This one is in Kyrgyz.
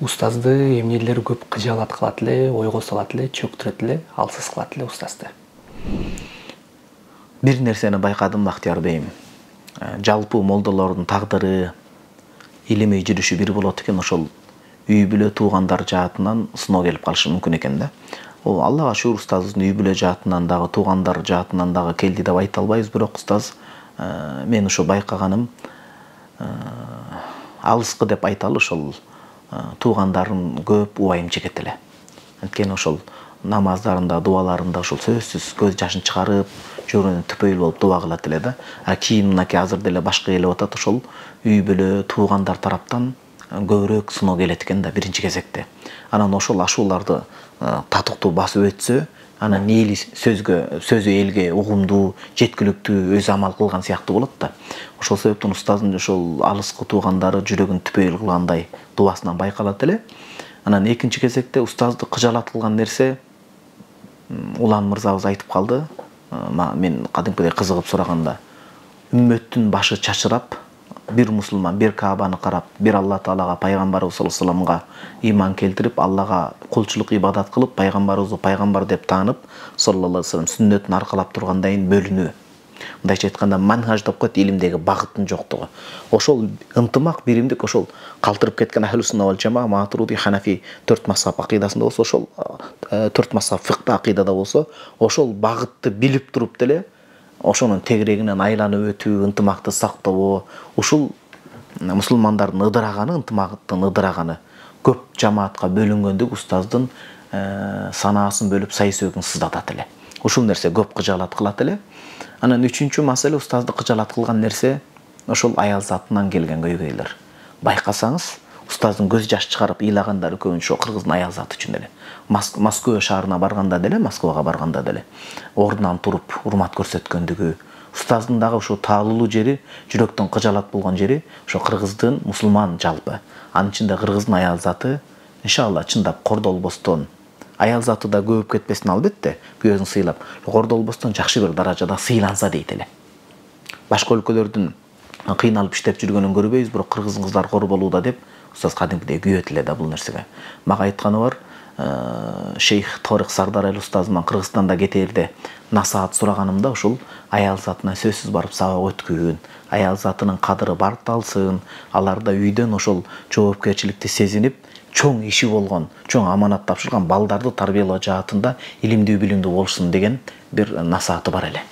Устазды эмнелер көп кыжаалат кылат эле, ойго салат эле, чөктүрөт эле, алсыз кылат эле устазды? Бир нерсени байкадым, Бактияр бейим. Жалпы молдолордун тагдыры, илимий жүрүшү бир болот экен, ошол үй бүлө туугандар жаатынан сыноо келип калышы мүмкүн экен да. Ол Аллага шүгүр, устазыбыздын үй бүлө жаатынан дагы, туугандар жаатынан дагы келди деп айта албайбыз, бирок устаз мен ошо байкаганым алыскы деп айталы, ошол туугандарын көп убайым чекет эле. Анткени ошол намаздарында, дуаларында ошол сөзсүз көз жашын чыгарып, жүрөгүнөн түпөйүл болуп дуа кылат эле да. Кийин мынакей азыр деле башка келип атат, ошол үй бүлө туугандар тараптан көбүрөөк сыноо келет экен да биринчи кезекте. Анан ошол ашууларды татыктуу басып өтсө, анан эли сөзү элге угумдуу, жеткиликтүү өзү амал кылган сыяктуу болот да. Ошол себептен устаздын ошол алыскы туугандары жүрөгүн түпөйүл кылгандай дуасынан байкалат эле. Анан экинчи кезекте устазды кыжаалат кылган нерсе, Улан мырзабыз айтып калды. Мен кадимкидей кызыгып сураганда, үммөттүн башы чачырап, бир мусулман бир Каабаны карап, бир Алла Таалага, пайгамбарыбыз саллаллаху алейхи вассаламга ыйман келтирип, Аллага кулчулук ибадат кылып, пайгамбарыбызды пайгамбар деп таанып, саллаллаху алейхи вассалам сүннөтүн аркалап тургандайын бөлүнүү. Мындайча айтканда, манхаж деп коет, илимдеги багыттын жоктугу. Ошол ынтымак, биримдик, ошол калтырып кеткен ахлу сунна вал жамаа, Матурidi, Ханафи төрт мазхаб акыйдасында болсо, ошол төрт мазхаб фикта акыйдада болсо, ошол багытты билип туруп деле, ошонун тегерегинен айланып өтүү, ынтымакты сактоо, ушул мусулмандардын ыдыраганы, ынтымактын ыдыраганы, көп жамаатка бөлүнгөндүк устаздын санаасын бөлүп, сай сөөгүн сыздатат эле. Ушул нерсе көп кыжаалат кылат эле. Анан үчүнчү маселе, устазды кыжаалат кылган нерсе ошол аял затынан келген көйгөйлөр. Байкасаңыз, устаздын көз жаш чыгарып ыйлагандары көбүнчө кыргыздын аял заты үчүн эле. Москва шаарына барганда деле, Москвага барганда деле ордунан туруп урмат көрсөткөндүгү, устаздын дагы ошо таалуулуу жери, жүрөктөн кыжаалат болгон жери ошо кыргыздын мусулман жалпы. Анын ичинде кыргыздын аял заты иншалла чындап кордолбостон, аял заты да көбөп кетпесин албетте, күйөөсүн сыйлап, кордолбостон жакшы бир даражада сыйланса дейт эле. Башка өлкөлөрдүн кыйналып иштеп жүргөнүн көрбөйбүз, бирок кыргыздын кыздары кор болууда деп устаз кадимкидей күйөт эле да бул нерсеге. Мага айтканы бар, Шейх Торик Сардарали устазыман Кыргызстанда кетээрде насаат сураганымда ушул аял затына сөзсүз барып сабак өткүн, аял затынын кадыры барталсын, аларда үйдөн ошол жоопкерчиликти сезинип, чоң иши болгон, чоң аманат тапшырган балдарды тарбиялоо жаатында илимдүү билимдүү болушун деген бир насааты бар эле.